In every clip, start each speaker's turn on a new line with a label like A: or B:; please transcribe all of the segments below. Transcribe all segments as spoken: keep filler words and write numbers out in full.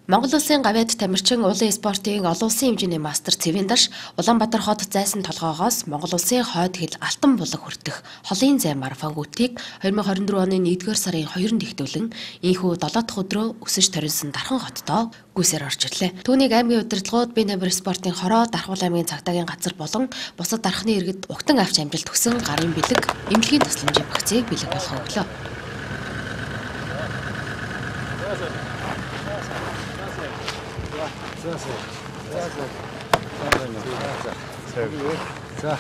A: Монгол улсын гавьяд тамирчин уулын спортын олон улсын хэмжээний мастер Цэвэндаш Улаанбаатар хот зайсан толгоогоос Монгол улсын хойд хил алтан булаг хүртэх холын зай марафон гүтгийг две тысячи двадцать четыре оны нэгдүгээр сарын хоёрнд ихтүүлэн ийхүү долоо дахь өдрөө өсөж торинсон Дархан хоттоо гүйсээр орж ирлээ. Түүнийг аймгийн удирдлагууд бие тамир спортын хороо Дархуул аймгийн цагдаагийн газар болон бусад дархны иргэд угтан авч амжилт өгсөн гарын бэлэг эмнэлгийн тусламжийн багцыг бэлэг болгох өглөө.
B: За.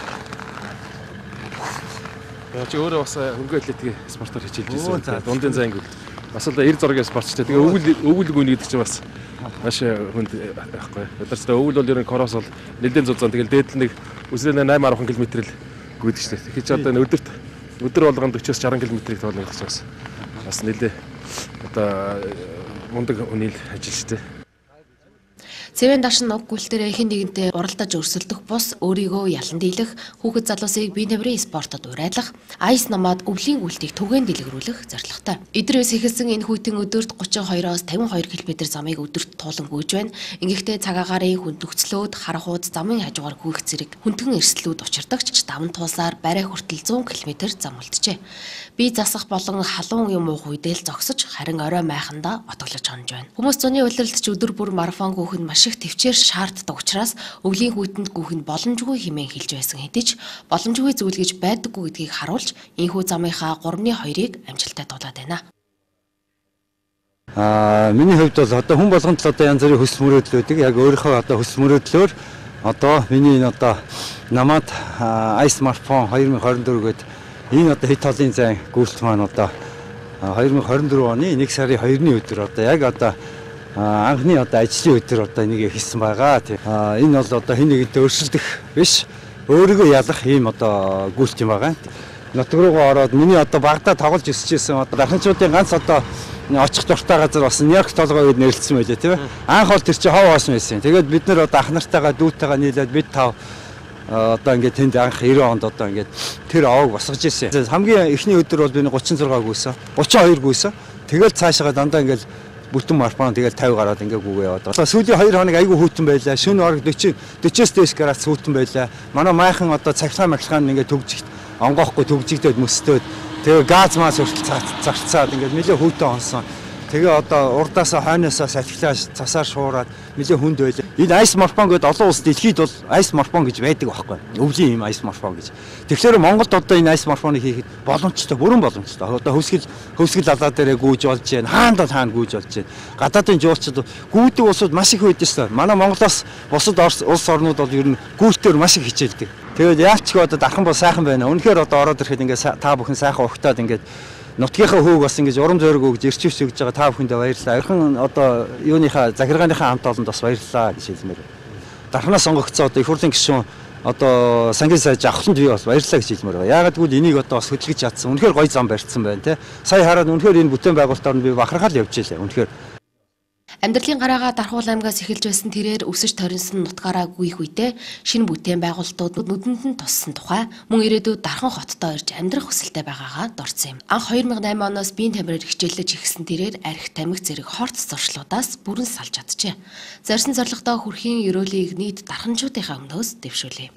B: Яг өөрөө бас хөргөө атлетикийн спортоор хичээлж байсан. Дундын зай ангид. Бас л эр зургийн спортчтой. Тэгээ өвөл өвөл гүн гэдэг чинь бас маш хүнд байхгүй. Өдөртөө өвөл бол ер нь корос бол нэлээд зузаан. Тэгэл дээдл нэг үсрээ eight арван км л гүйдэг шүү дээ. Тэгэхээр ч одоо өдөрт өдөр болгоно forty-шестьдесят км-ийг тоолно гэж бас бас нэлээд одоо мундаг үнэл ажил шүү дээ.
A: Цэвэндаш нь уг гүйлтээр эхэн нэгэнтэй уралдаж өрсөлдөх бус өөрийгөө ялан дийлэх, хүүхэд залуусыг бие тамирын спортод урайлах, айс намаад өвлийн гүйлтийг түгээн дэлгэрүүлэх зорилготой. Идрээс эхэлсэн энэ хүйтэн өдөрт thirty-two-оос fifty-two км замыг өдөрт туулан гүйж байна. Ингэхдээ цаг агарын хүндөгцлөөд харахууд замын хажуугаар гүйх зэрэг хүндгэн эрсдлүүд учирдагч даван туусаар барай хүртэл one hundred км зам үлджээ. Бие засах болон халуун юм уух үедээ л зогсож харин орой майхандаа отоглож хонж байна. Хүмүүс зуны улиралд ч өдөр бүр марафон гүйх нь маш их төвчээр шаарддаг учраас өвлийн хүйтэнд гүйх нь боломжгүй хэмээн хэлж байсан хэдий ч боломжгүй зүйл гэж байдаггүй гэдгийг харуулж энэхүү замынхаа three-ны two-ыг амжилттай дуулаад байна.
C: Аа миний хувьд бол одоо хүн болгонд л одоо янз бүрийн хүсэл мөрөөдлүүдийг яг өөрийнхөө одоо хүсэл мөрөөдлөөр одоо миний энэ одоо намаад айс марафон twenty twenty-four гээд энэ одоо хит холын зай гүйлт маань одоо twenty twenty-four оны one сарын two-ны өдөр одоо яг одоо анхны одоо ажлын өдөр одоо энийг хийсэн байгаа. Энэ бол одоо хэн нэгэнтэй өрсөлдөх биш, өөрийгөө ялах ийм одоо гүйлт юм байгаа. Нутаг руугаа ороод миний одоо багада тоглож өсөжсэн одоо дарханчуудын ганц одоо очих дуртай газар бас Нью-Йорк толгой үед нэрэлсэн байлээ тийм ээ. Анх бол тэр чинь хов оосон байсан. Тэгээд бид нэр одоо ах нартайгаа дүүтэйгээ нийлээд бид тав одоо ингээд тэнд анх ninety онд одоо ингээд тэр овог босгож ирсэн. Хамгийн эхний өдөр бол би thirty-six гүйсэн, thirty-two гүйсэн. Тэгэл цаашаа дандаа ингээд бүтэн марафон тэгэл fifty гараад ингээ гүгээ яваад. Одоо сүүлийн two хоног айгүй хүйтэн байлаа. Шөнө орог forty forty-с дэс градус хүйтэн байлаа. Манай майхан одоо цаглаа маглахаа ингээ төгжигт онгоохгүй төгжигдээд мөстөөд тэгээ газ маас хүртэл зарцаад ингээ нэлээ хүйтэн онсон. Тэгээ одоо урдаасаа хойноосоо салхилаа цасаар шуураад нэлээ хүнд байлаа. Энэ айс марафон гэдэг олон улс дэлхийд бол айс марафон гэж байдаг байхгүй. Өвлийн юм айс марафон гэж. Тэгэхээр Монголд одоо энэ айс марафоныг хийхэд боломжтой, бүрэн боломжтой. Одоо хөвсгөл хөвсгөл алаа дээрээ гүйж болж байна. Хаанд бол хаана гүйж болж байна. Гадаадын жуулчид гүйдэг улсууд маш их байдаг шүү. Манай Монголоос бусад улс орнууд бол ер нь гүйлтээр маш их хичээлдэг. Тэгээд яач ч одоо дархан бол сайхан байна. Үнэхээр одоо ороод ирэхэд ингээ та бүхэн сайхан ухтаад ингээ нутгийнхаа хөөг бас ингэж урам зориг өгж ирчвч өгж байгаа та бүхэндээ баярлалаа. Ойрхон одоо юуныхаа захиргааныхаа хамт олонд бас баярлалаа гэж хэлмээр. Дарханаас сонгогдсон одоо их хурлын гишүүн одоо сангийн сайж авахланд би бас баярлалаа гэж хэлмээр байна. Яагаад гэвэл энийг одоо бас хөдөлгөж чадсан. Үнэхээр гоё зам барьсан байна те. Сая хараад үнэхээр энэ бүтээн байгуулалтаар нь би бахархал явж илээ. Үнэхээр
A: Амьдралын гараагаа Дархуул аймгаас эхэлж байсан тэрээр өсөж торинсон нутгаараа гүйх үедээ шинэ бүтээн байгуулалтууд нүдэнд нь туссан тухай мөн ирээдүйд Дархан хоттоо ирж амьдрах хүсэлтэй байгаагаа дурдсан юм. Анх two thousand eight оноос биеийн тамираар хичээлж ихсэн тэрээр архи тамхи зэрэг хорт зуршлуудаас бүрэн салж чаджээ. Зорьсон зорилгодоо хүрэхийн ерөөлийг нийт дарханчуудынхаа өмнөөс дэвшүүлээ.